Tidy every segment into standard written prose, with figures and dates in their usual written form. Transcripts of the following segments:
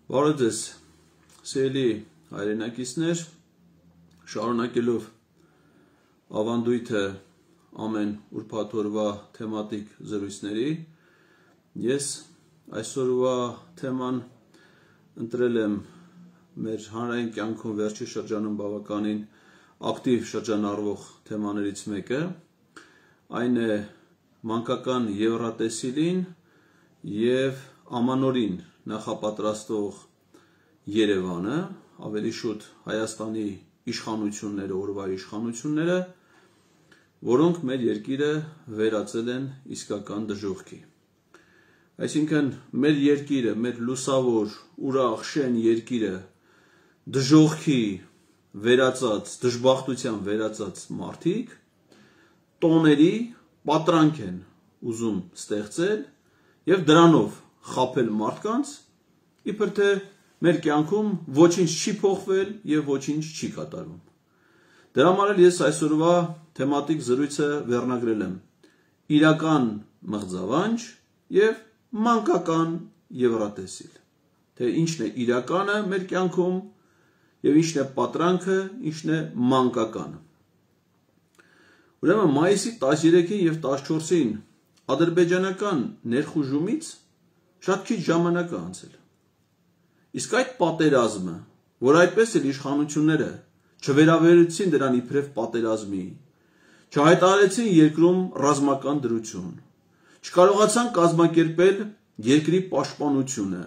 Բարև ձեզ, սիրելի հայրենակիցներ, շարունակելով ավանդույթը ամեն ուրբաթ օրվա թեմատիկ զրույցների, ես այսօրվա թեման ընտրել եմ մեր հանրային կյանքում վերջի շրջանում բավականին ակտիվ շրջանառվող թեմաներից մեկը, այն է մանկական ևրատեսիլին և ամանորին նախապատրաստող Երևանը, ավելի շուտ Հայաստանի իշխանությունները, օրվա իշխանությունները, որոնք մեր երկիրը վերածել են իսկական դժոխքի։ Այսինքն մեր երկիրը, մեր լուսավոր, ուրախ, շեն երկիրը դժոխքի վերածած, դժբախտության վերածած մարդիկ տոների պատրանք են ուզում ստեղծել և դրանով խաբել մարդկանց, իբր թե մեր կյանքում ոչինչ չի փոխվել և ոչինչ չի կատարվում։ Դրա համար էլ ես այսօրվա թեմատիկ զրույցը վերնագրել եմ իրական մղձավանջ և մանկական ևրատեսիլ, թե ինչն է իրականը մեր կյանքում և ինչն է պատրանքը, ինչն է մանկականը։ Ուրեմն մայիսի 13-ին և 14-ին ադրբեջանական ներխուժումից շատ քիչ ժամանակ է անցել։ Իսկ այդ պատերազմը, որ այդպես էլ իշխանությունները չվերաբերեցին դրան իբրև պատերազմի, չհայտարարեցին երկրում ռազմական դրություն, չկարողացան կազմակերպել երկրի պաշտպանությունը,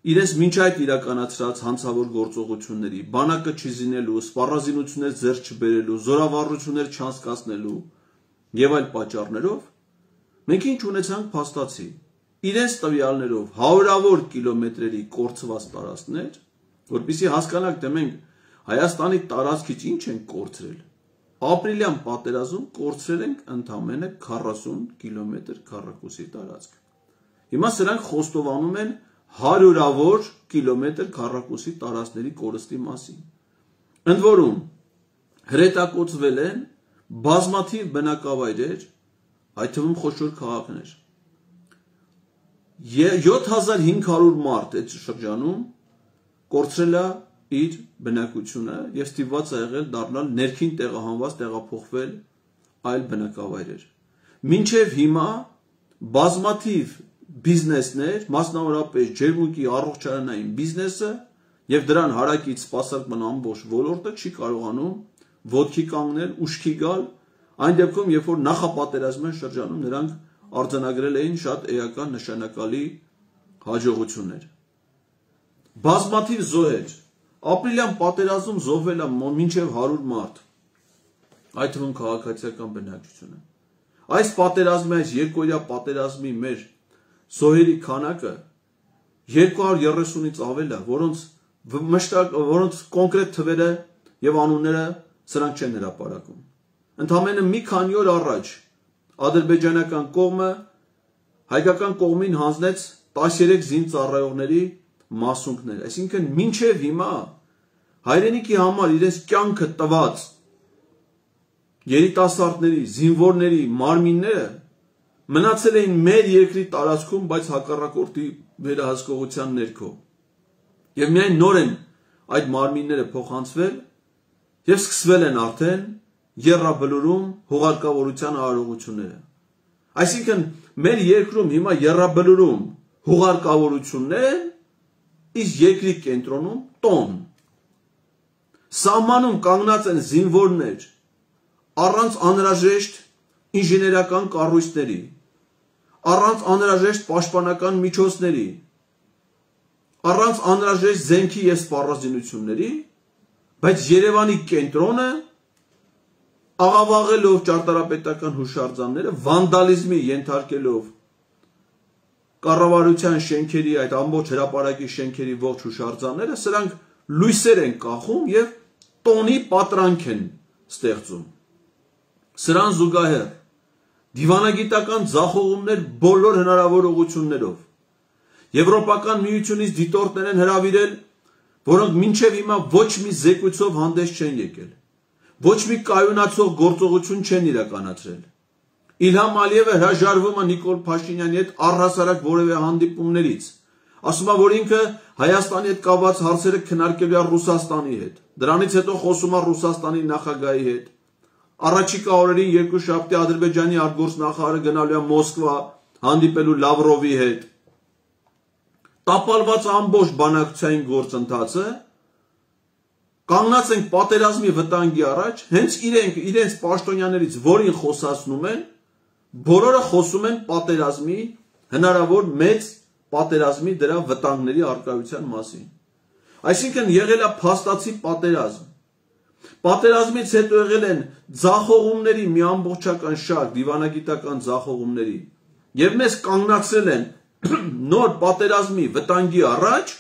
իրենց մինչ այդ իրականացրած հանցավոր գործողությունների, բանակը չզինելու, սպառազինություններ ձեռք չբերելու, զորավարություններ չանցկացնելու և այլ պատճառներով, մենք ինչ ունեցանք փաստացի, իրենց տվյալներով հարյուրավոր կիլոմետրերի կորցված տարածքներ, որպեսզի հասկանաք, թե մենք Հայաստանի տարածքից ինչ ենք կորցրել, ապրիլյան պատերազմում կորցրել ենք ընդամենը 40 կիլոմետր քառակուսի տարածք։ Հիմա սրանք խոստովանում են հարյուրավոր կիլոմետր քառակուսի տարածքների կորստի մասին։ Ընդ որում հրետակոծվել են բազմաթիվ բնակավայրեր, այդ թվում խոշոր քաղաքներ։ 7500 մարդ այդ շրջանում կորցրել է իր բնակությունը և ստիպված է եղել դառնալ ներքին տեղահանված, տեղափոխվել այլ բնակավայրեր։ Մինչև հիմա բազմաթիվ բիզնեսներ, մասնավորապես ջերմուկի առողջարանային բիզնեսը և դրան հարակից սպասարկման ամբողջ ոլորտը չի կարողանում ոտքի կանգնել, ուշքի գալ, այն դեպքում, երբ որ նախապատերազմյան շրջանում նրանք արձանագրել էին շատ էական նշանակալի հաջողություններ։ Բազմաթիվ զոհեր, ապրիլյան պատերազմում զոհվել է մինչև 100 մարդ, այդ թվում քաղաքացիական բնակչությունը։ Այս պատերազմի, այս երկօրյա պատերազմի մեր զոհերի քանակը 230-ից ավել է, որոնց կոնկրետ թվերը և անունները սրանք չեն հրապարակում։ Ընդամենը մի քանի օր առաջ ադրբեջանական կողմը հայկական կողմին հանձնեց 13 զինծառայողների մասունքներ, այսինքն մինչև հիմա հայրենիքի համար իրենց կյանքը տված երիտասարդների, զինվորների մարմինները մնացել էին մեր երկրի տարածքում, բայց հակառակորդի վերահսկողության ներքո։ Եվ միայն նոր են այդ մարմինները փոխանցվել և սկսվել են արդեն եռաբլուրում հուղարկավորության արարողությունները։ Այսինքն մեր երկրում հիմա եռաբլուրում հուղարկավորություններ են, իսկ երկրի կենտրոնում տոն։ Սահմանում կանգնած են զինվորներ առանց անհրաժեշտ ինժեներական կառույցների, առանց անհրաժեշտ պաշտպանական միջոցների, առանց անհրաժեշտ զենքի և սպառազինությունների, բայց Երևանի կենտրոնը աղավաղելով ճարտարապետական հուշարձանները, վանդալիզմի ենթարկելով կառավարության շենքերի, այդ ամբողջ հրապարակի շենքերի ողջ հուշարձանները, սրանք լույսեր են կախում և տոնի պատրանք են ստեղծում։ Սրան զուգահեռ դիվանագիտական ձախողումներ բոլոր հնարավոր ուղղություններով։ Եվրոպական միությունից դիտորդներ են հրավիրել, որոնք մինչև հիմա ոչ մի զեկույցով հանդես չեն եկել, ոչ մի կայունացող գործողություն չեն իրականացրել։ Իլհամ Ալիևը հրաժարվում է Նիկոլ Փաշինյանի հետ առհասարակ որևէ հանդիպումներից, Ասում է, որ ինքը Հայաստանի հետ կապված հարցերը քննարկելու է Ռուսաստանի հետ։ Դրանից հետո խոսում է Ռուսաստանի նախագահի հետ։ Առաջիկա օրերին երկուշաբթի Ադրբեջանի արտգործնախարարը գնալու է Մոսկվա հանդիպելու Լավրովի հետ։ Տապալված ամբողջ բանակցային գործընթացը կանգնած ենք պատերազմի վտանգի առաջ, հենց իրենց պաշտոնյաներից, որին խոսացնում են, բոլորը խոսում են պատերազմի, հնարավոր մեծ պատերազմի դրա վտանգների առկայության մասին։ Այսինքն եղել է փաստացի պատերազմ։ Պատերազմից հետո եղել են ձախողումների մի ամբողջական շարք, դիվանագիտական ձախողումների, եւ մեզ կանգնացրել են նոր պատերազմի վտանգի առաջ,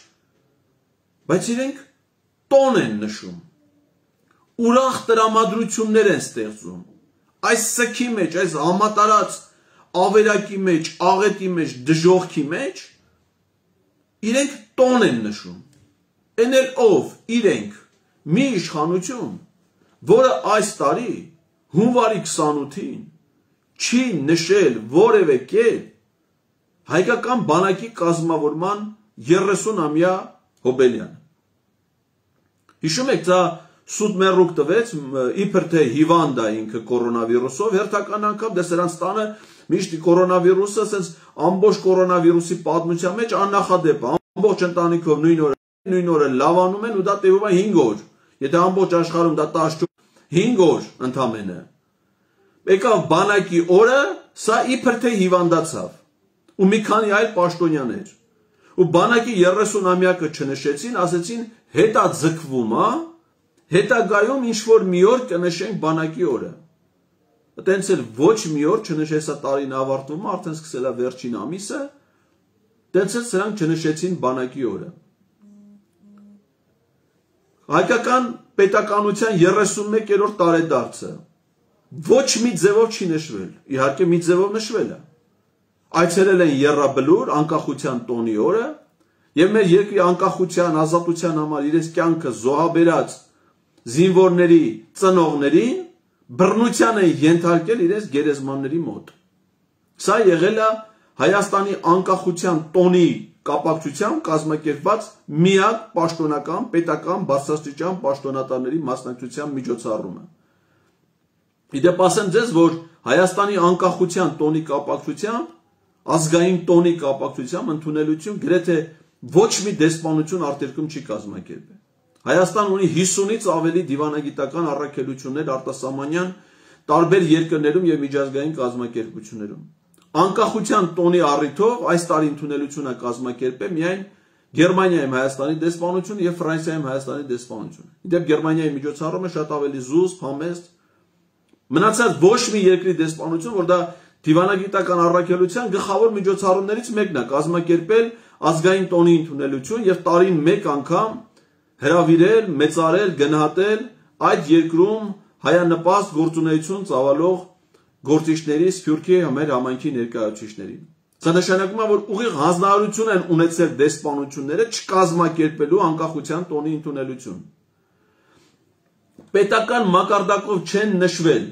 բայց իրենք տոն են նշում, ուրախ տրամադրություններ են ստեղծում, այս սքի մեջ, այս համատարած ավերակի մեջ, աղետի մեջ, դժողքի մեջ, իրենք տոն են նշում, են էլ ով, իրենք, մի իշխանություն, որը այս տարի, հունվարի 28-ին, չի նշել որևէ կերպ հայկական բանակի կազմավորման 30-ամյա հոբելյանը։ Հիշում եք, դա սուտ մեռուկ տվեց, իբր թե հիվանդ է ինքը կորոնավիրուսով, հերթական անգամ դե սրանց տանը միշտ կորոնավիրուսը, ասենց ամբողջ կորոնավիրուսի պատմության մեջ աննախադեպ է, ամբողջ ընտանիքով նույն օրը լավանում են ու դա տևում է 5 օր։ Եթե ամբողջ աշխարհում դա 5 օր ընդամենը։ Եկավ բանակի օրը, սա իբր թե հիվանդացավ ու մի քանի այլ պաշտոնյաներ։ Ու բանակի 30-ամյակը չնշեցին, ասեցին հետա ձգվում է, հետագայում ինչ-որ մի օր կնշենք բանակի օրը։ Այտենց էլ ոչ մի օր չնշեցա տարին ավարտվում է, արդեն սկսել է վերջին ամիսը, այտենց էլ սրանք չնշեցին բանակի օրը։ Հայկական պետականության 31-րդ տարեդարձը ոչ մի ձևով չի նշվել, իհարկե մի ձևով նշվել է։ Այցելել են Եռաբլուր անկախության տոնի օրը եւ մեր երկրի անկախության, ազատության համար իրենց կյանքը զոհաբերած զինվորների ծնողներին բռնության են ենթարկել իրենց գերեզմանների մոտ։ Սա եղել է Հայաստանի անկախության տոնի կապակցությամբ կազմակերպված միակ պաշտոնական, պետական բարձրաստիճան պաշտոնատարների մասնակցության միջոցառումը։ Իդեպ ասեմ ձեզ, որ Հայաստանի անկախության տոնի կապակցությամբ, ազգային տոնի կապակցությամբ ընդունելություն գրեթե ոչ մի դեսպանություն արտերկում չի կազմակերպել։ Հայաստան ունի 50-ից ավելի դիվանագիտական առաքելություններ արտասահմանյան տարբեր երկրներում եւ միջազգային կազմակերպություններում։ Անկախության տոնի առիթով այս տարի ընդունելությունը կազմակերպել միայն Գերմանիայում Հայաստանի դեսպանությունը եւ Ֆրանսիայում Հայաստանի դեսպանությունը։ Իդեպ Գերմանիայի միջոցառումը շատ ավելի զուսպ, համեստ, մնացած ոչ մի երկրի դեսպանություն, որ դա դիվանագիտական առաքելության գլխավոր միջոցառումներից մեկն է, կազմակերպել ազգային տոնի ընդունելություն եւ տարին մեկ անգամ հրավիրել, մեծարել, գնահատել այդ երկրում հայանպաստ գործունեություն ծավալող գործիչների, սփյուռքի մեր համայնքի ներկայացուցիչներին։ Սա նշանակում է, որ ուղիղ հանձնարարություն են ունեցել դեսպանությունները չկազմակերպելու անկախության տոնի ընդունելություն։ Պետական մակարդակով չեն նշվել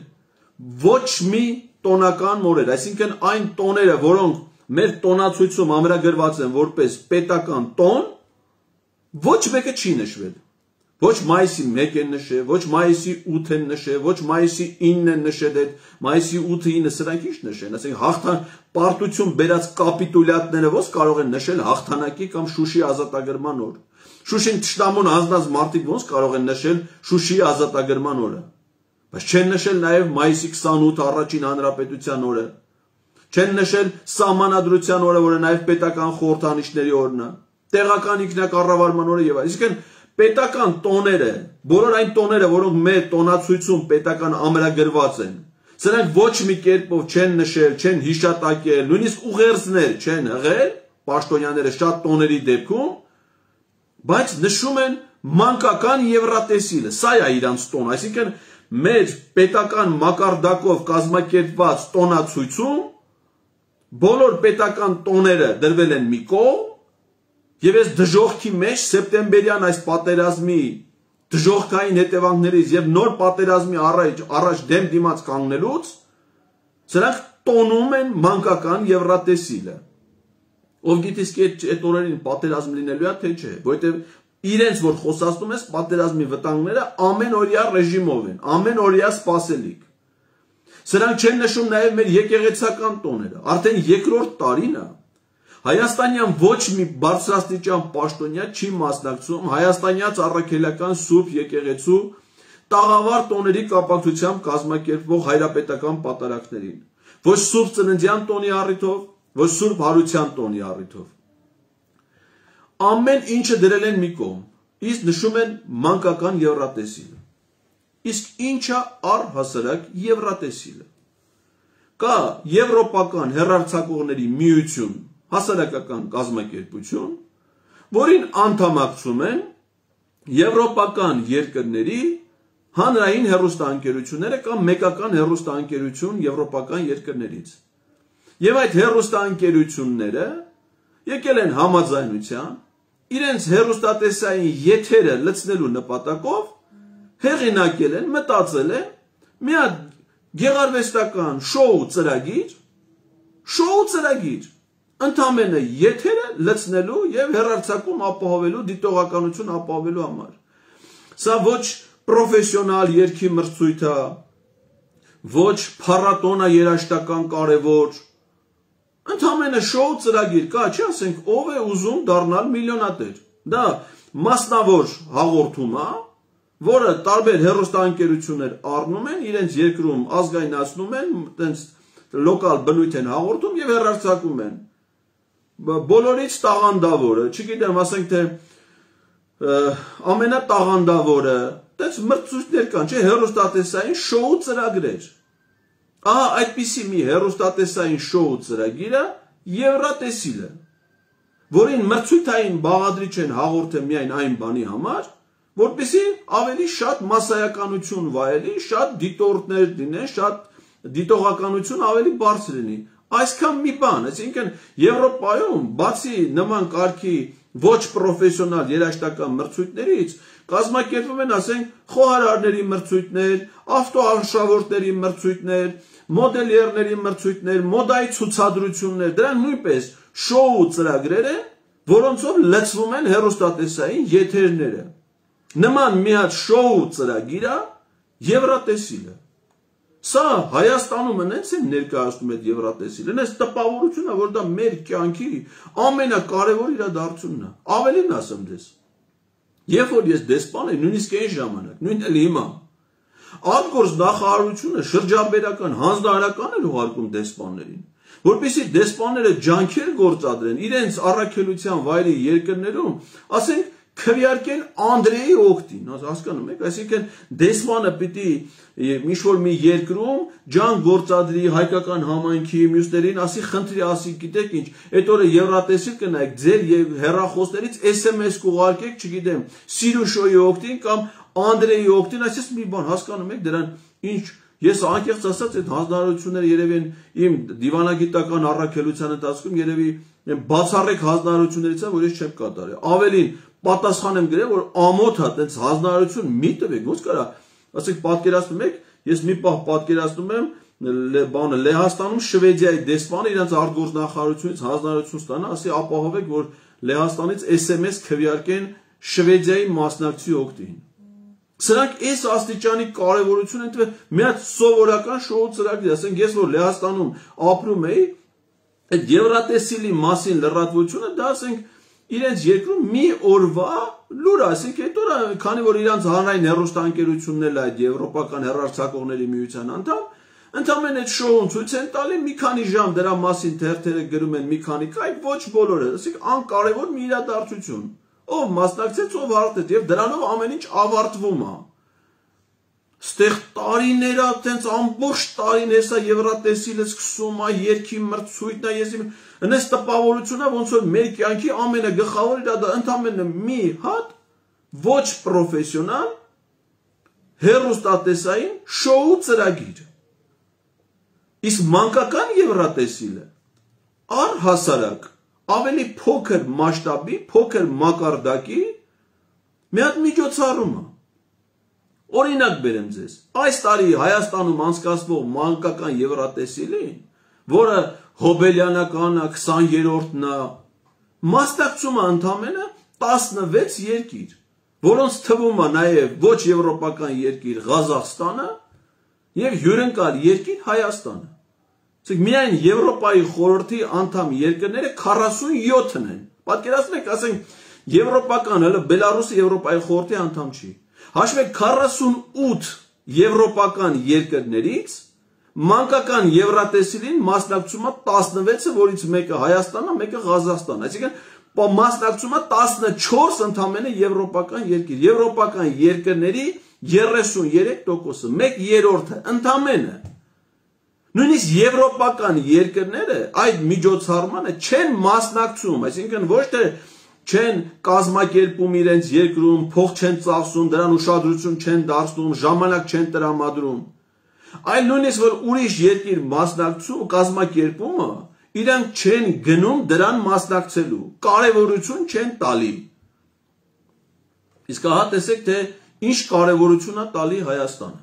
ոչ մի տոնական մորեր, այսինքն այն տոները, որոնք մեր տոնացույցում ամրագրված են որպես պետական տոն, ոչ մեկը չի նշվել։ Ոչ մայիսի 1 են նշել, ոչ մայիսի 8 են նշել, ոչ մայիսի 9 են նշել, մայիսի 8-9 սրանք ինչ նշեն, ասենք հաղթան պարտություն բերած կապիտուլյատները ո՞ս կարող են նշել հաղթանակի կամ Շուշի ազատագրման օր։ Շուշին թշնամուն հանձնած մարդիկ ո՞ս կարող են նշել Շուշի ազատագրման օրը։ Բայց չեն նշել նաև մայիսի 28 առաջին հանրապետության օրը։ Չեն նշել սահմանադրության օրը, որը նաև պետական խորհրդանիշների օրն է, տեղական ինքնակառավարման օրը եւ այլն։ Այսինքն պետական տոները, բոլոր այն տոները, որոնք մեր տոնացույցում պետական ամրագրված են, սրանք ոչ մի կերպով չեն նշել, չեն հիշատակել, նույնիսկ ուղերձներ չեն հղել, պաշտոնյաները շատ տոների դեպքում, բայց նշում են մանկական եվրատեսիլը, սա է իրանց տոն, այսինքն մեր պետական մակարդակով կազմակերպված տոնացույցում բոլոր պետական տոները դրվել են մի կողմ եւ այս դժողքի մեջ սեպտեմբերյան այս պատերազմի դժողքային հետևանքներից եւ նոր պատերազմի առաջ դեմ դիմաց կանգնելուց սրանք տոնում են մանկական եվրատեսիլը։ Ով գիտի այդ օրերին պատերազմ լինելու է, թե չէ, որովհետև իրենց որ խոսացնում ես պատերազմի վտանգները ամենօրյա ռեժիմով են, ամենօրյա սպասելիք։ Սրանք չեն նշում նաև մեր եկեղեցական տոները, արդեն երկրորդ տարին է Հայաստանյան ոչ մի բարձրաստիճան պաշտոնյա չի մասնակցում հայաստանյաց առաքելական սուրբ եկեղեցու տաղավար տոների կապակցությամբ կազմակերպվող հայրապետական պատարակներին, ոչ սուրբ ծննդյան տոնի առիթով, ոչ սուրբ հարության տոնի առիթով։ Ամեն ինչը դրել են մի կողմ, իսկ նշում են մանկական եվրատեսիլը։ Իսկ ինչա առհասարակ եվրատեսիլը։ Կա եվրոպական հեռարձակողների միություն, հասարակական կազմակերպություն, որին անդամակցում են եվրոպական երկրների հանրային հեռուստաընկերությունները կամ մեկական հեռուստաընկերություն եվրոպական երկրներից։ Եվ այդ հեռուստաընկերությունները եկել են համաձայնության, իրենց հեռուստատեսային եթերը լցնելու նպատակով հեղինակել են, մտածել են մի հատ գեղարվեստական շոու ծրագիր, ընդամենը եթերը լցնելու եւ հեռարձակում ապահովելու, դիտողականություն ապահովելու համար։ Սա ոչ պրոֆեսիոնալ երգի մրցույթ է, ոչ փառատոնա երաժշտական կարևոր, ընդամենը շոու ծրագիր կա, չի ասենք ով է ուզում դառնալ միլիոնատեր։ Դա մասնավոր հաղորդում է, որը տարբեր հեռուստաընկերություններ առնում են, իրենց երկրում ազգայնացնում են, այտենց լոկալ բնույթ են հաղորդում եւ հեռարձակում են։ Բոլորից տաղանդավորը, չգիտեմ, ասենք թե ամենատաղանդավորը, այդպես մրցույթներ կան, չէ, հեռուստատեսային շոու ծրագրեր։ Ահա այդպիսի մի հեռուստատեսային շոու ծրագիրը եվրատեսիլը, որին մրցույթային բաղադրիչ են հաղորդել միայն այն բանի համար, որպեսզի ավելի շատ մասսայականություն վայելի, շատ դիտորդներ լինեն, շատ դիտողականություն ավելի բարձր լինի։ Այսքան մի բան, այսինքն Եվրոպայում բացի նման կարգի ոչ պրոֆեսիոնալ երաժշտական մրցույթներից կազմակերպվում են, ասենք, խոհարարների մրցույթներ, ավտոարշավորդների մրցույթներ, մոդելյերների մրցույթներ, մոդայի ցուցադրություններ, դրանք նույնպես շոու ծրագրեր են, որոնցով լցվում են հեռուստատեսային եթերները։ Նման մի հատ շոու ծրագիր է եվրատեսիլը։ Սա Հայաստանում հենց են ներկայացնում այդ եվրատեսիլը, հենց տպավորությունն է, որ դա մեր կյանքի ամենակարևոր իրադարձությունն է։ Ավելին ասեմ դες։ Երբ որ ես դեսպան եմ, նույնիսկ այն ժամանակ, նույն էլ հիմա, արտգործ նախարարությունը շրջաբերական հանձնարարական էր ուղարկում դեսպաններին, որպեսզի դեսպանները ջանքեր գործադրեն իրենց առաքելության վայրի երկրներում, ասենք քվեարկեն Անդրեի օգտին, հասկանում եք, այսինքն դեսպանը պիտի ինչ-որ մի երկրում ջանք գործադրի հայկական համայնքի մյուսներին, ասի խնդրի, ասի գիտեք ինչ, այդ օրը եվրատեսիլ կնայեք, ձեր հեռախոսներից SMS կուղարկեք, չգիտեմ, Սիրուշոյի օգտին կամ Անդրեի օգտին, այսպես մի բան, հասկանում եք, դրան ինչ, ես անկեղծ ասած այդ հանձնարարությունները երևի իմ դիվանագիտական առաքելության ընթացքում երևի բացառիկ հանձնարարություններից են, որ ես չեմ կատարել։ Ավելին պատասխան եմ գրել, որ ամոթ է, տենց հանձնարարություն մի տվեք, ոնց կարա, ասենք պատկերացնում եք, ես մի պահ պատկերացնում եմ, բանը Լեհաստանում Շվեդիայի դեսպանը իրենց արտգործ նախարարությունից հանձնարարություն ստանա, ասի ապահովեք, որ Լեհաստանից SMS քվեարկեն Շվեդիայի մասնակցի օգտին։ Սրանք այս աստիճանի կարևորություն են տվել մի հատ սովորական շոու ծրագրի, ասենք ես որ Լեհաստանում ապրում էի, այդ եվրատեսիլի մասին լրատվությունը դա ասենք իրենց երկրում մի օրվա լուր, ասենք այդ օրը, քանի որ իրանց հանրային հեռուստաընկերություններն այդ եվրոպական հեռարձակողների միության անդամ, ընդամենը այդ շոուն ցույց են տալի մի քանի ժամ դրա մասին թերթերը գրում են մի քանի կայ, ոչ բոլորը, ասենք անկարևոր մի իրադարձություն, ով մասնակցեց, ով հարթեց եւ դրանով ամեն ինչ ավարտվում է։ Ստեղ տարիներ է, տենց ամբողջ տարին հեսա եվրատեսիլը սկսում է, երկի մրցույթն է, ես հենց տպավորությունն է, ոնց որ մեր կյանքի ամենագլխավոր իրադարձությունն է, ընդամենը մի հատ ոչ պրոֆեսիոնալ հեռուստատեսային շոու ծրագիր։ Իսկ մանկական եվրատեսիլը առհասարակ ավելի փոքր մասշտաբի, փոքր մակարդակի մի հատ միջոցառում է։ Օրինակ բերեմ ձեզ, այս տարի Հայաստանում անցկացվող մանկական եվրատեսիլին, որը հոբելյանական է, 20-րդն է, Մասնակցում է ընդամենը 16 երկիր, որոնց թվում է նաև ոչ եվրոպական երկիր Ղազախստանը եւ հյուրընկալ երկիր Հայաստանը։ Իսկ միայն Եվրոպայի խորհրդի անդամ երկրները 47-ն են։ Պատկերացնեք, ասենք եվրոպական, հələ Բելարուսը Եվրոպայի խորհրդի անդամ չի։ Հաշվեք 48 եվրոպական երկրներից մանկական Եվրատեսիլին մասնակցում է 16-ը, որից մեկը Հայաստանն է, մեկը Ղազախստանն։ Այսինքն մասնակցում է 14 ընդամենը եվրոպական երկիր։ Եվրոպական երկրների 33%-ը, 1/3-ը ընդամենը։ Նույնիսկ եվրոպական երկրները այդ միջոցառմանը չեն մասնակցում, այսինքն ոչ թե չեն կազմակերպում իրենց երկրում, փող չեն ծախսում, դրան ուշադրություն չեն դարձնում, ժամանակ չեն տրամադրում, այլ նույնիսկ որ ուրիշ երկիր մասնակցում, կազմակերպումը, իրանք չեն գնում դրան մասնակցելու, կարևորություն չեն տալի։ Իսկ ահա տեսեք, թե ինչ կարևորություն է տալի Հայաստանը։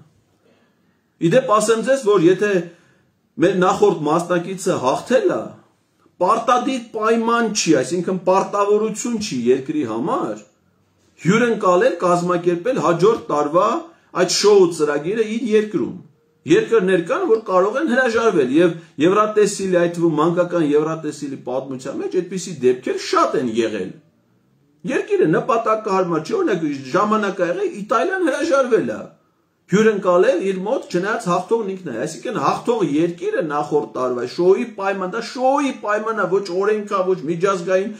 Իդեպ ասեմ ձեզ, որ եթե մեր նախորդ մասնակիցը հաղթել է, պարտադիր պայման չի, այսինքն պարտավորություն չի երկրի համար հյուրընկալել, կազմակերպել հաջորդ տարվա այդ շոու ծրագիրը իր երկրում։ Երկրներ կան, որ կարող են հրաժարվել եւ Եվրատեսիլի, այդ թվում մանկական Եվրատեսիլի պատմության մեջ այդպիսի դեպքեր շատ են եղել։ Երկիրը նպատակահարմար չի, օրինակ ժամանակ ա եղել Իտալիան հրաժարվել է հյուրընկալել իր մոտ, չնայած հաղթողն ինքն է, այսինքն հաղթող երկիրը նախորդ տարվա շոուի պայման, դա շոուի պայման է, ոչ օրենքա, ոչ միջազգային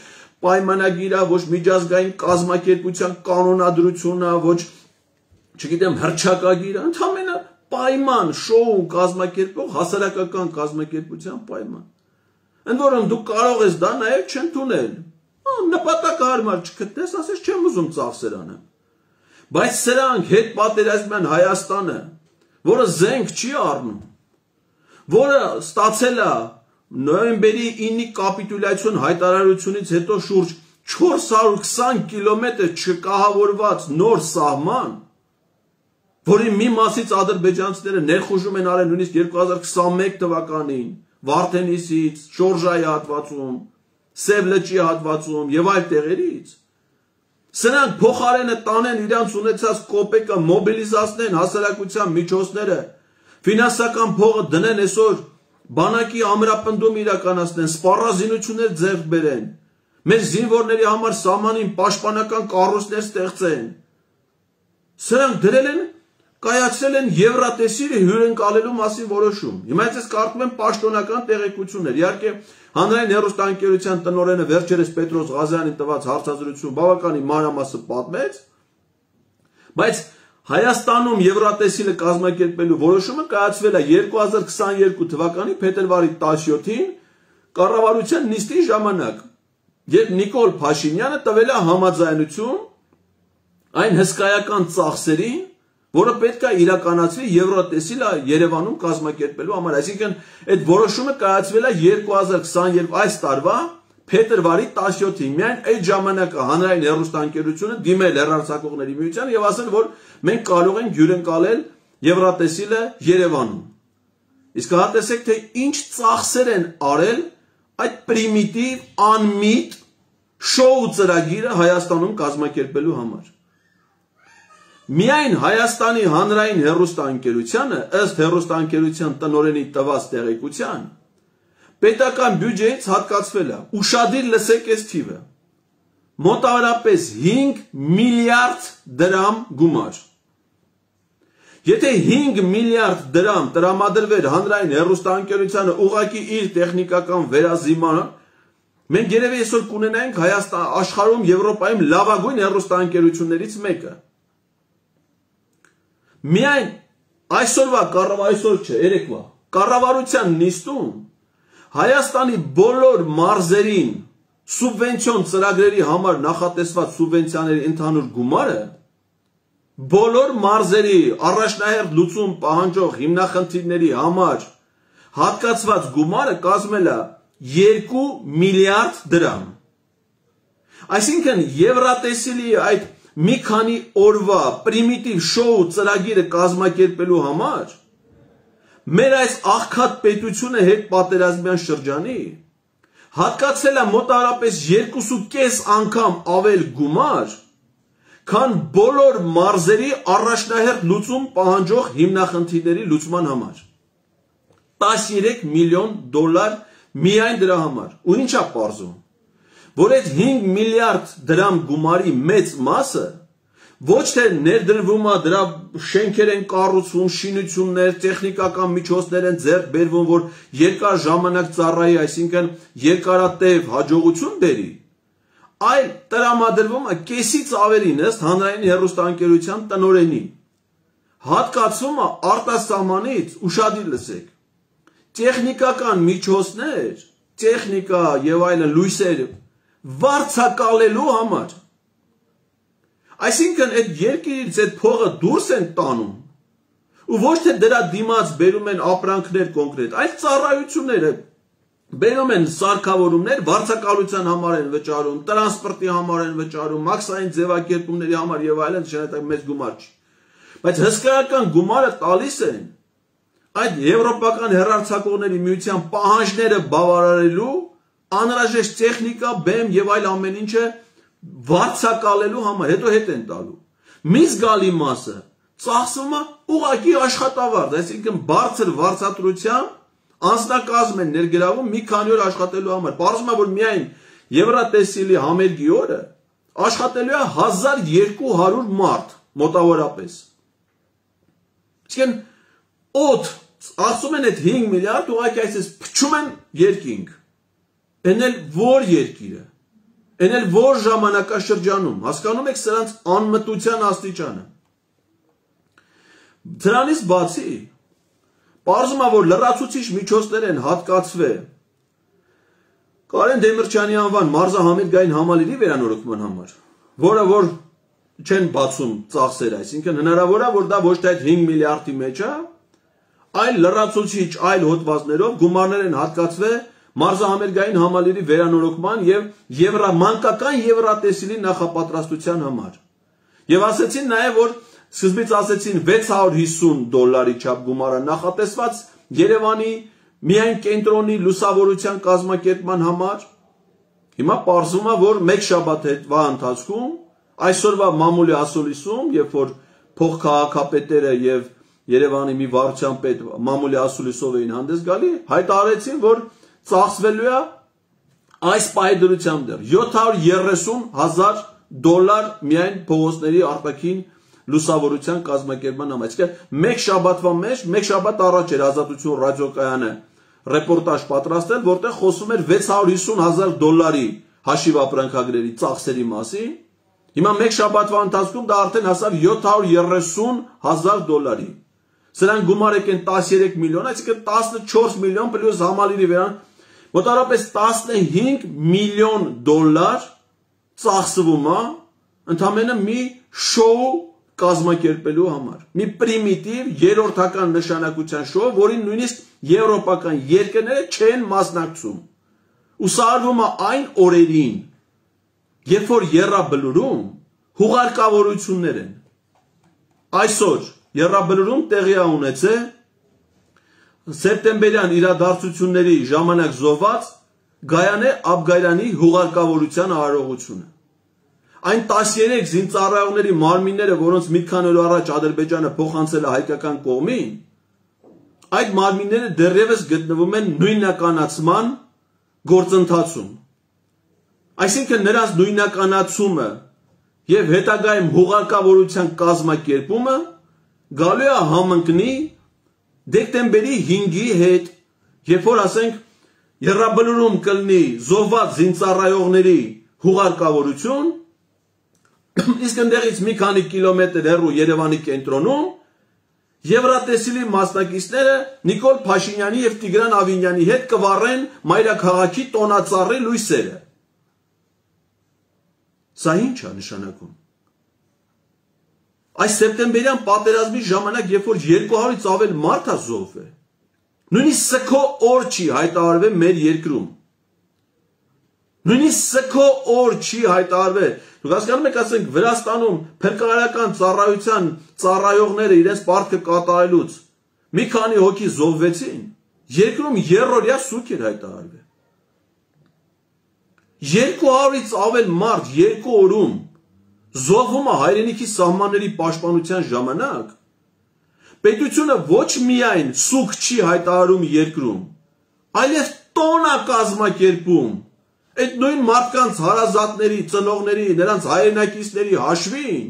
պայմանագիր է, ոչ միջազգային կազմակերպության կանոնադրություն է, ոչ, չգիտեմ, հռչակագիր է, ընդամենը պայման, շոու կազմակերպող հասարակական կազմակերպության պայման։ Ընդ որում դու կարող ես դա նաև չընդունել։ Նպատակահարմար չգտնես, ասես չեմ ուզում ծախսերանը։ Բայց սրանք հետ պատերազմյան Հայաստանը, որը զենք չի առնում, որը ստացել է նոյեմբերի 9-ի կապիտուլյացիոն հայտարարությունից հետո շուրջ 420 կիլոմետր չկահավորված նոր սահման, որի մի մասից ադրբեջանցիները ներխուժում են արել նույնիսկ 2021 թվականին, Վարդենիսից, Շորժայի հատվածում, Սև լճի հատվածում եւ այլ տեղերից, սրանք փոխարենը տանեն իրանց ունեցած կոպեկը, մոբիլիզացնեն հասարակության միջոցները, ֆինանսական փողը դնեն այսօր բանակի ամրապնդում իրականացնեն, սպառազինություններ ձեռք բերեն, մեր զինվորների համար սահմանին պաշտպանական կառույցներ ստեղծեն։ Սրանք դրել են, կայացրել են Եվրատեսիլը հյուրընկալելու մասին որոշում։ Հիմա ես կարդում եմ պաշտոնական տեղեկություններ։ Իհարկե հանրային հեռուստաընկերության տնօրենը վերջերս Պետրոս Ղազյանին տված հարցազրույցում բավականին մանրամասը պատմեց, բայց Հայաստանում Եվրատեսիլը կազմակերպելու որոշումը կայացվել է 2022 թվականի փետրվարի 17-ին կառավարության նիստի ժամանակ, երբ Նիկոլ Փաշինյանը տվել է համաձայնություն այն հսկայական ծախսերին, որը պետք է իրականացվի Եվրատեսիլը Երևանում կազմակերպելու համար, այսինքն այդ որոշումը կայացվել է 2022 այս տարվա փետրվարի 17-ին, միայն այդ ժամանակը հանրային հեռուստաընկերությունը դիմել հեռարձակողների միությանը եւ ասել, որ մենք կարող ենք հյուրընկալել Եվրատեսիլը Երևանում։ Իսկ հա տեսեք, թե ինչ ծախսեր են արել այդ պրիմիտիվ, անմիտ շոու ծրագիրը Հայաստանում կազմակերպելու համար։ Միայն Հայաստանի հանրային հեռուստաընկերությանը, ըստ հեռուստաընկերության տնօրենի տված տեղեկության, պետական բյուջեից հատկացվել է, ուշադիր լսեք այս թիվը, մոտավորապես 5 միլիարդ դրամ գումար։ Եթե 5 միլիարդ դրամ տրամադրվեր հանրային հեռուստաընկերությանը ուղղակի իր տեխնիկական վերազիմանը, մենք երևի այսօր կունենայինք աշխարհում Եվրոպայում լավագույն հեռուստաընկերություններից մեկը։ Միայն այսօրվա այսօր չէ, երեկվա կառավարության նիստում Հայաստանի բոլոր մարզերին սուբվենցիոն ծրագրերի համար նախատեսված սուբվենցիաների ընդհանուր գումարը բոլոր մարզերի առաջնահերթ լուծում պահանջող հիմնախնդիրների համար հատկացված գումարը կազմել է 2 միլիարդ դրամ։ Այսինքն Եվրատեսիլի այդ մի քանի օրվա պրիմիտիվ շոու ծրագիրը կազմակերպելու համար մեր այս աղքատ պետությունը հետ պատերազմյան շրջանի հատկացել է մոտավորապես 2.5 անգամ ավել գումար, քան բոլոր մարզերի առաջնահերթ լուծում պահանջող հիմնախնդիրների լուծման համար։ 13 միլիոն դոլար միայն դրա համար։ Ու ինչ է պարզում, որ այդ 5 միլիարդ դրամ գումարի մեծ մասը ոչ թե ներդրվում է, դրա շենքեր են կառուցվում, շինություններ, տեխնիկական միջոցներ են ձեռք բերվում, որ երկար ժամանակ ծառայի, այսինքն երկարատև հաջողություն բերի, այլ տրամադրվում է կեսից ավելին ըստ հանրային հեռուստաընկերության տնօրենի։ Հատկացումը արտասահմանից, ուշադիր լսեք, տեխնիկական միջոցներ, տեխնիկա եւ այլն լույսեր վարձակալելու համար։ Այսինքն այդ երկիրից այդ փողը դուրս են տանում ու ոչ թե դրա դիմաց բերում են ապրանքներ կոնկրետ, այլ ծառայությունները բերում են սարքավորումներ, վարձակալության համար են վճարում, տրանսպորտի համար են վճարում, մաքսային ձևակերպումների համար եւ այլն, շնորհակալ մեծ գումար չի։ Բայց հսկայական գումարը տալիս են այդ եվրոպական հեռարձակողների միության պահանջները բավարարելու անհրաժեշտ տեխնիկա, բեմ եւ այլ ամեն ինչը վարձակալելու համար, հետո հետ են տալու։ Մի զգալի մասը ծախսվում է ուղղակի աշխատավարձ, այսինքն բարձր վարձատրությամբ անձնակազմ են ներգրավում մի քանի օր աշխատելու համար։ Պարզվում է, որ միայն Եվրատեսիլի համերգի օրը աշխատելու է 1200 մարդ մոտավորապես։ Այսինքն օդ ասում են այդ 5 միլիարդ ուղղակի այսպես փչում են երկինք։ Էն էլ որ երկիրը, էն էլ որ ժամանակաշրջանում, հասկանում եք սրանց անմտության աստիճանը։ Դրանից բացի պարզում է, որ լրացուցիչ միջոցներ են հատկացվել Կարեն Դեմիրճյանի անվան մարզահամերգային համալիրի վերանորոգման համար, որը որ չեն բացում ծախսերը, այսինքն հնարավոր է, որ դա ոչ թե այդ 5 միլիարդի մեջ է, այլ լրացուցիչ այլ հոդվածներով գումարներ են հատկացվել մարզահամերգային համալիրի վերանորոգման եւ մանկական Եվրատեսիլի նախապատրաստության համար։ Եվ ասեցին նաեւ, որ սկզբից ասեցին $650 չափ գումարը նախատեսված Երևանի միայն կենտրոնի լուսավորության կազմակերպման համար։ Հիմա պարզվում է, որ մեկ շաբաթ հետվա ընթացքում այսօրվա մամուլի ասուլիսում, երբ որ փոխքաղաքապետերը եւ Երևանի մի վարչության պետ մամուլի ասուլիսով էին հանդես գալի, հայտարարեցին, որ ծախսվելու է այս պահեդրությամբ դեռ $730,000 միայն փողոցների արտաքին լուսավորության կազմակերպման համար։ Այսինքն մեկ շաբաթվա մեջ, մեկ շաբաթ առաջ էր Ազատություն ռադիոկայանը ռեպորտաժ պատրաստել, որտեղ խոսում էր $650,000 հաշիվ ապրանքագրերի ծախսերի մասին։ Հիմա մեկ շաբաթվա ընթացքում դա արդեն հասավ $730,000։ Սրանք գումար եկեն 13 միլիոն, այսինքն 14 միլիոն պլյուս համալիրի վերան, մոտավորապես $15 միլիոն ծախսվում է ընդամենը մի շոու կազմակերպելու համար։ Մի պրիմիտիվ երրորդական նշանակության շոու, որին նույնիսկ եվրոպական երկրները չեն մասնակցում։ Ու սա արվում է այն օրերին, երբ որ եռաբլուրում հուղարկավորություններ են։ Այսօր եռաբլուրում տեղի է ունեցել սեպտեմբերյան իրադարձությունների ժամանակ զոհված Գայանե Աբգայրյանի հուղարկավորության արարողությունը։ Այն 13 զինծառայողների մարմինները, որոնց մի քանի օր առաջ Ադրբեջանը փոխանցել է հայկական կողմին, այդ մարմինները դեռևս գտնվում են նույնականացման գործընթացում։ Այսինքն նրանց նույնականացումը եւ հետագայում հուղարկավորության կազմակերպումը գալու է համընկնի դեկտեմբերի 5-ի հետ, երբ որ ասենք եռաբլուրում կլինի զոհված զինծառայողների հուղարկավորություն, իսկ ընդեղից մի քանի կիլոմետր հեռու Երևանի կենտրոնում Եվրատեսիլի մասնակիցները Նիկոլ Փաշինյանի եւ Տիգրան Ավինյանի հետ կվառեն մայրաքաղաքի տոնածառի լույսերը։ Սա ինչ է նշանակում։ Այս սեպտեմբերյան պատերազմի ժամանակ, երբ որ 200-ից ավել մարդ է զոհվել, նույնիսկ սքո օր չի հայտարարվել մեր երկրում։ Նույնիսկ սքո օր չի հայտարարվել։ Դուք հասկանում եք, ասենք Վրաստանում փրկարարական ծառայության ծառայողները իրենց պարտքը կատարելուց մի քանի հոգի զոհվեցին, երկրում երրորդյա սուկ էր հայտարարվել։ 200-ից ավել մարդ 2 օրում զոհվում է հայրենիքի սահմանների պաշտպանության ժամանակ, պետությունը ոչ միայն սուկ չի հայտարարում երկրում, այլև տոն է կազմակերպում այդ նույն մարդկանց հարազատների, ծնողների, նրանց հայրենակիցների հաշվին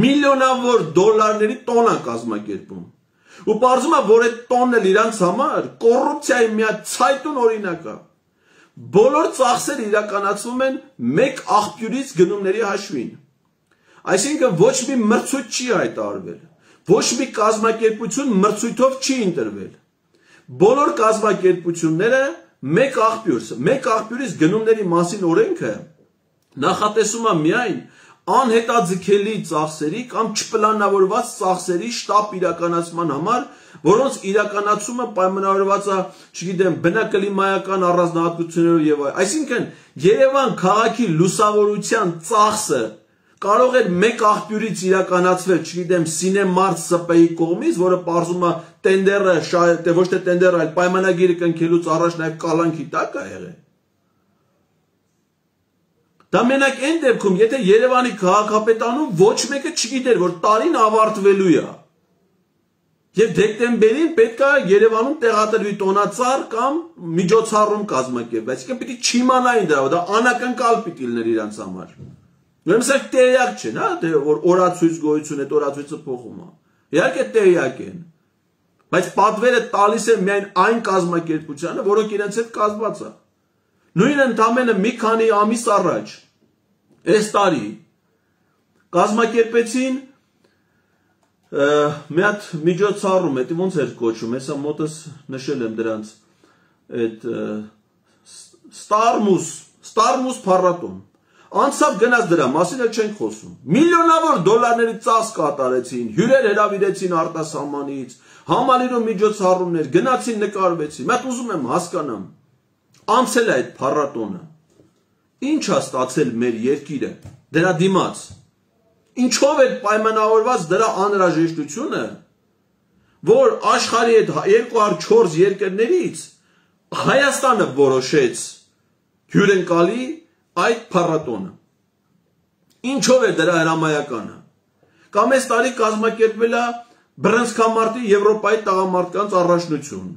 միլիոնավոր դոլարների տոն է կազմակերպում։ Ու պարզում է, որ այդ տոնն էլ իրանց համար կոռուպցիայի մի հատ ցայտուն օրինակ է։ Բոլոր ծախսերը իրականացվում են մեկ աղբյուրից գնումների հաշվին։ Այսինքն ոչ մի մրցույթ չի հայտարարվել, ոչ մի կազմակերպություն մրցույթով չի ընտրվել։ Բոլոր կազմակերպությունները մեկ աղբյուրից գնումների մասին օրենքը նախատեսում է միայն անհետաձգելի ծախսերի կամ չպլանավորված ծախսերի շտապ իրականացման համար, որոնց իրականացումը պայմանավորված է, չգիտեմ, բնակլիմայական առանձնահատկություններով եւ այլն։ Այսինքն Երևան քաղաքի լուսավորության ծախսը կարող է մեկ աղբյուրից իրականացվել, չգիտեմ, Սինեմարտ ՍՊ-ի կողմից, որը պարզում է տենդերը, ոչ թե տենդերը, այլ պայմանագիրը կնքելուց առաջ նաև կալանքի տակ է եղել։ Դա մենակ այն դեպքում, եթե Երևանի քաղաքապետանում ոչ մեկը չգիտեր, որ տարին ավարտվելու է։ Եվ դեկտեմբերին պետք է Երևանում տեղադրվի տոնածառ կամ միջոցառում կազմակերպվի։ Այսինքն պիտի չիմանային դրա, դա անակնկալ պիտի լիներ իրանց համար։ Ուրեմն սա տեղյակ չեն, հա, թե որ օրացույց գոյություն է, օրացույցը փոխում է։ Իհարկե տեղյակ են։ Բայց պատվերը տալիս են միայն այն կազմակերպությանը, որոնք իրենց հետ կազմված է։ Նույն ընդամենը մի քանի ամիս առաջ, այս տարի, կազմակերպեցին մի հատ միջոցառում, դա ոնց էր կոչվում, հեսա մոտս նշել եմ դրանց, այդ Ստարմուս փառատոն։ Անցավ գնաց դրա մասին էլ չենք խոսում։ Միլիոնավոր դոլարների ծախս կատարեցին, հյուրեր հրավիրեցին արտասահմանից, համալիրում միջոցառումներ, գնացին նկարվեցին։ Մատ ուզում եմ հասկանամ, անցել է այդ փառատոնը։ Ինչ է ստացել մեր երկիրը դրա դիմաց։ Ինչով է պայմանավորված դրա անհրաժեշտությունը, որ աշխարհի այդ 204 երկրներից Հայաստանը որոշեց հյուրընկալի այդ փառատոնը։ Ինչով է դրա հրամայականը։ Կամ այս տարի կազմակերպվել է բռնցքամարտի Եվրոպայի տղամարդկանց առաջնություն։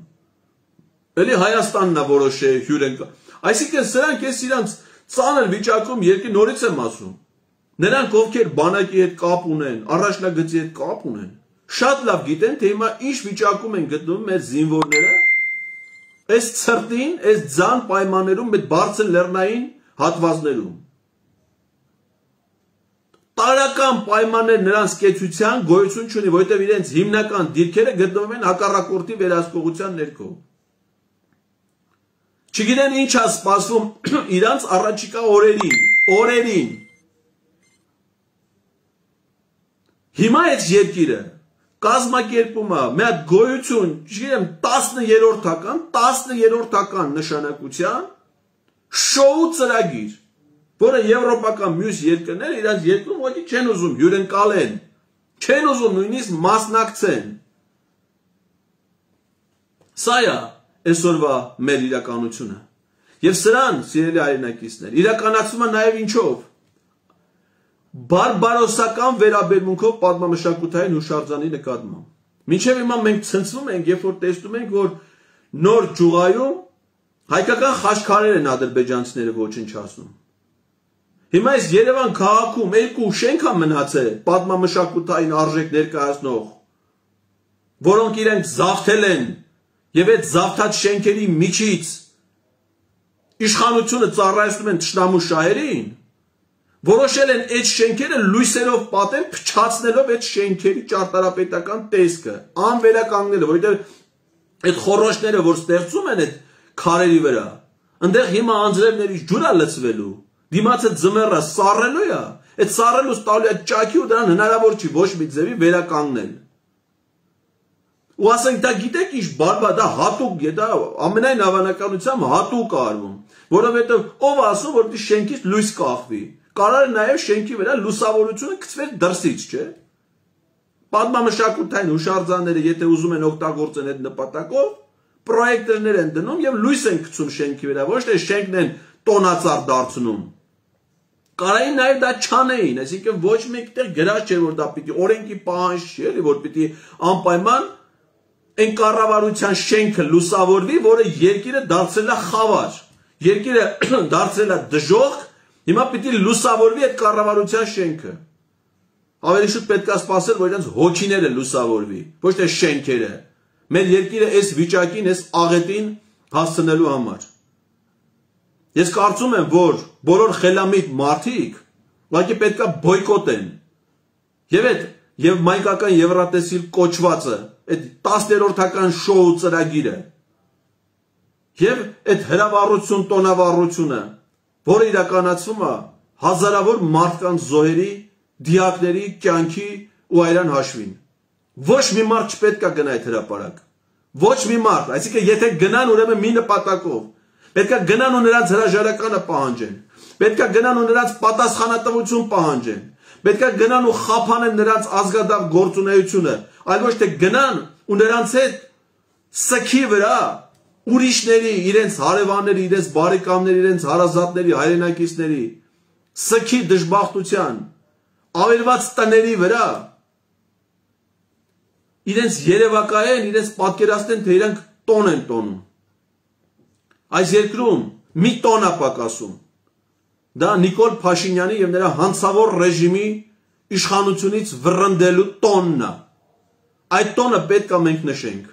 Էլի Հայաստանն է որոշել հյուրընկալ։ Այսինքն սրանք ես իրանց ծանր վիճակում երկի նորից եմ ասում։ Նրանք ովքեր բանակի հետ կապ ունեն, առաջնագծի հետ կապ ունեն, շատ լավ գիտեն, թե հիմա ինչ վիճակում են գտնվում մեր զինվորները, այս ցրտին, այս ձան պայմաններում, այդ բարձր լեռնային հատվածներում։ Տարական պայմաններ նրանց կեցության գոյություն չունի, որովհետև իրենց հիմնական դիրքերը գտնվում են հակառակորդի վերահսկողության ներքո։ Չգիտեն ինչ է սպասվում իրանց առաջիկա օրերին։ Հիմա այդ երկիրը կազմակերպում է մի հատ գոյություն, չգիտեմ, 10-րդական նշանակության շոու ծրագիր, որը եվրոպական մյուս երկրները իրանց երկրում ոչի չեն ուզում հյուրընկալեն, չեն ուզում նույնիսկ մասնակցեն։ Սա է այսօրվա մեր իրականությունը։ Եվ սրան, սիրելի հայրենակիցներ, իրականացումը նաև ինչով։ Բարբարոսական վերաբերմունքով պատմամշակութային հուշարձանի նկատմամբ։ Մինչև հիմա մենք ցնցվում ենք, երբ որ տեսնում ենք, որ նոր ճյուղայում հայկական խաչքարեր են ադրբեջանցիները ոչնչացնում։ Հիմա այս Երևան քաղաքում 2 շենք է մնացել պատմամշակութային արժեք ներկայացնող, որոնք իրենք զավթել են եւ այդ զավթած շենքերի միջից իշխանությունը ծառայեցնում են թշնամու շահերին, որոշել են այդ շենքերը լույսերով պատեն, փչացնելով այդ շենքերի ճարտարապետական տեսքը, անվերականգնելով, որովհետև այդ խոռոչները, որ ստեղծում են այդ քարերի վրա, այնտեղ հիմա անձրևներից ջուր է լցվելու, դիմացը ձմեռը սառելու է, այդ սառելուց տալու է ճաքի ու դրան հնարավոր չի ոչ մի ձևի վերականգնել։ Ու ասենք դա գիտեք ինչ բարբա, դա հատուկ է, դա ամենայն հավանականությամբ հատուկ է արվում, որովհետև ով ասում, որ դի շենքից լույս կախվի, կարող է նաև շենքի վրա լուսավորությունը գցվել դրսից, չէ։ Պատմամշակութային հուշարձանները, եթե ուզում են օգտագործեն այդ նպատակով, պրոյեկտորներ են դնում եւ լույս են գցում շենքի վրա, ոչ թե շենքն են տոնածառ դարձնում։ Կարային նաև դա չանեին, այսինքն ոչ մեկտեղ գրած չէր, որ դա պիտի օրենքի պահանջ չի, էլի, որ պիտի անպայման այն կառավարության շենքը լուսավորվի, որը երկիրը դարձրել է խավար, երկիրը դարձրել է դժոխք, հիմա պիտի լուսավորվի այդ կառավարության շենքը։ Ավելի շուտ պետք է սպասել, որ իրենց հոգիները լուսավորվի, ոչ թե շենքերը։ Մեր երկիրը այս վիճակին, այս աղետին հասցնելու համար։ Ես կարծում եմ, որ բոլոր խելամիտ մարդիկ ուղղակի պետք է բոյկոտեն։ Եվ մայկական Եվրատեսիլ կոչվածը, այդ 10-րդական շոու ծրագիրը, եւ այդ հրավառություն, տոնավառությունը, որը իրականացվում է հազարավոր մարդկանց զոհերի, դիակների, կյանքի ու այրան հաշվին։ Ոչ մի մարդ չպետք է գնա այդ հրապարակ։ Ոչ մի մարդ, այսինքն եթե գնան, ուրեմն մի նպատակով, պետք է գնան ու նրանց հրաժարականը պահանջեն, պետք է գնան ու նրանց պատասխանատվություն պահանջեն, պետք է գնան ու խափանեն նրանց ազգադառ գործունեությունը, այլ ոչ թե գնան ու նրանց հետ սքի վրա ուրիշների, իրենց հարևանների, իրենց բարեկամների, իրենց հարազատների, հայրենակիցների սքի դժբախտության ավերված տների վրա իրենց երևակայեն, իրենց պատկերացնեն, թե իրանք տոն են տոնում։ Այս երկրում մի տոն է պակասում։ Դա Նիկոլ Փաշինյանի եւ նրա հանցավոր ռեժիմի իշխանությունից վռնդելու տոնն է։ Այդ տոնը պետք է մենք նշենք։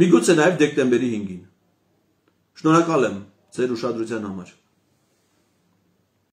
Միգուցե նաեւ դեկտեմբերի 5-ին։ Շնորհակալ եմ ձեր ուշադրության համար։